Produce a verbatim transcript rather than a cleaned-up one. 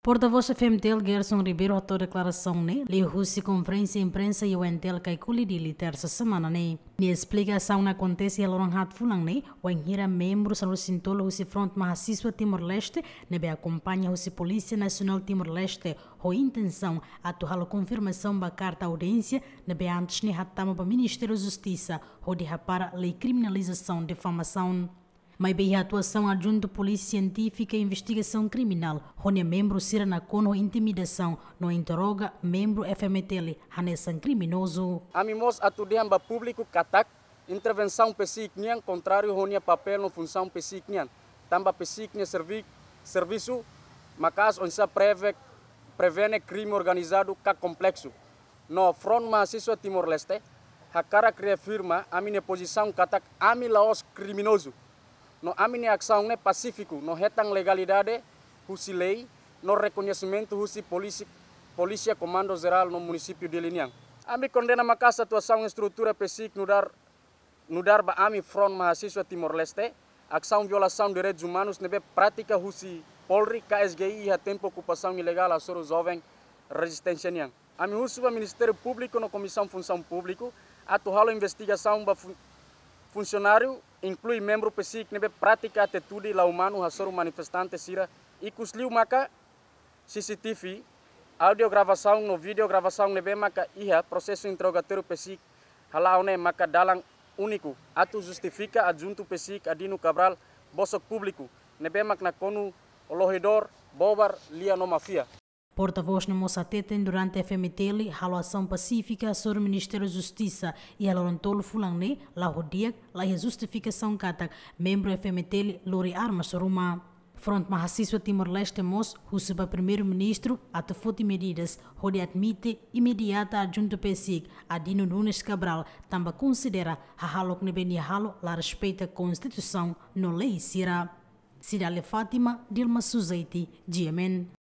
Portavós F M T L Gerson Ribeiro hato'o deklarasaun ne'e liuhusi konferénsia imprensa iha O N T L Kaikoli, Dili, tersa semana ne'e. Nia esplika asaun ne'e akontese iha loron haat fulan ne'e, wainhira membru sanulu-resin-tolu husi Front Mahasiswa Timor-Leste ne'ebé akompaña husi Polísia Nasionál Timor-Leste ho intensaun atu halo konfirmasaun ba karta audiénsia ne'ebé antes ne'e hatama ba Ministériu Justisa hodi hapara lei kriminalizasaun difamasaun. Maibé iha atuasaun Adjuntu Polísia Sientífika Investigasaun Kriminál ho nia membru sira nakonu ho intimidasaun no interroga membru F M T L hanesan kriminozu. Ami mós atu dehan ba públiku katak intervensaun PCIC nian kontráriu ho nia papél no funsaun PCIC nian. Tanba PCIC nia servi-, servisu maka'as oinsá preve-, prevene krime organizadu ka kompleksu. No Front Mahasiswa Timor-Leste hakarak reafirma ami-nia pozisaun katak ami la'ós kriminozu. No ami-nia asaun ne'e pasífiku no hetan legalidade husi lei no rekoñesimentu husi polisi-, Polísia Komandu Jerál no Munisípiu Dili nian. Ami kondena maka'as atuasaun estrutura PCIC nu'udar, nu'udar ba ami Front Mahasiswa Timor-Leste, asaun violasaun direitus umanus ne'ebé pratika husi Polri ka S G I iha tempu okupasaun ilegál hasoru joven rezisténsia nian. Ami husu ba Ministériu Públiku no Komisaun Funsaun Públiku atu halo investigasaun ba fun-, funsionáriu, inklui membru PCIC ne'ebé pratika atitude la umanu hasoru manifestante sira, ikusliu maka C C T V, audio gravasaun no vídeo gravasaun ne'ebé maka iha prosesu interrogatóriu PCIC hala'o ne'e maka dalan úniku atu justifika Adjuntu PCIC Adino Cabral bosok públiku ne'ebé mak nakonu olohidór, bobar, lia no máfia. Portavós ne'e mós hateten durante F M T L halo asaun pasífika hasoru Ministériu Justisa iha loron tolu fulan ne'e, la'o di'ak, la iha justifikasaun katak membru F M T L lori armas ruma. Front Mahasiswa Timor-Leste mós husu ba Primeiru-Ministru atu foti medidas hodi admite imediata Adjuntu PCIC Adino Nunes Cabral, tanba konsidera hahalok ne'ebé nia halo la respeita Konstituisaun no lei sira. Cidália Fátima, Dilma Suzeiti, G M N.